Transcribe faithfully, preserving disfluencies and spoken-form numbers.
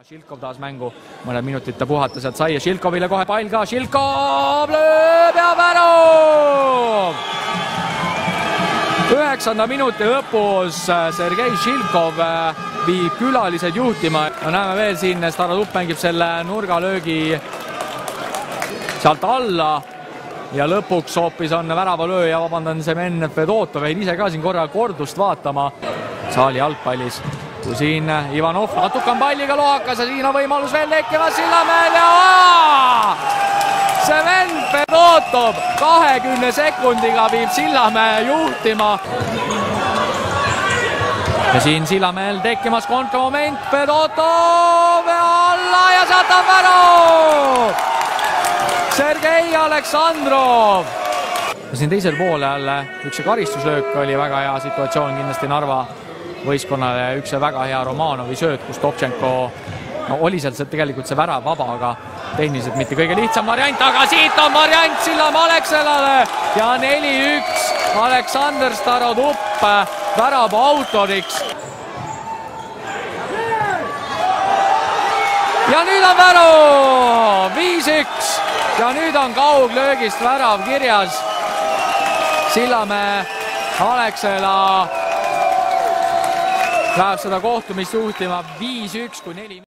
Šilkov taas mängu, mõned minutid ta puhata sealt sai ja Šilkovile kohe pall ka, Šilkov lööb ja värav! üheksanda minuti lõpus Sergei Šilkov viib külalised juhtima. No näeme veel siin, Starodup mängib selle nurgalöögi sealt alla ja lõpuks hoopis on väravalööja, vabandan, Semen Fedotov, jäin ise ka siin korra kordust vaatama saali jalgpallis. Kui siin Ivanov natuke on palliga lohakas ja siin on võimalus veel tekkimas Sillamäel ja Semen Fedotov kahekümne sekundiga viib Sillamäe juhtima. Ja siin Sillamäel tekkimas kontramoment, Fedotov alla ja sealt on värav! Sergei Aleksandrov! Siin teisel poolel üks karistuslöök oli väga hea situatsioon kindlasti Narva võistkonnale, üks väga hea Romanovi sööt, kus Toptšenko no, oli sealt tegelikult see värav vaba, aga tehniliselt mitte kõige lihtsam variant, aga siit on variant Sillamäe Alexelale ja neli üks Aleksandr Starodup värava autoriks. Ja nüüd on värav viis üks ja nüüd on kauglöögist värav kirjas. Sillamäe Alexela läheb seda kohtumist juhtima viis üks kui neli.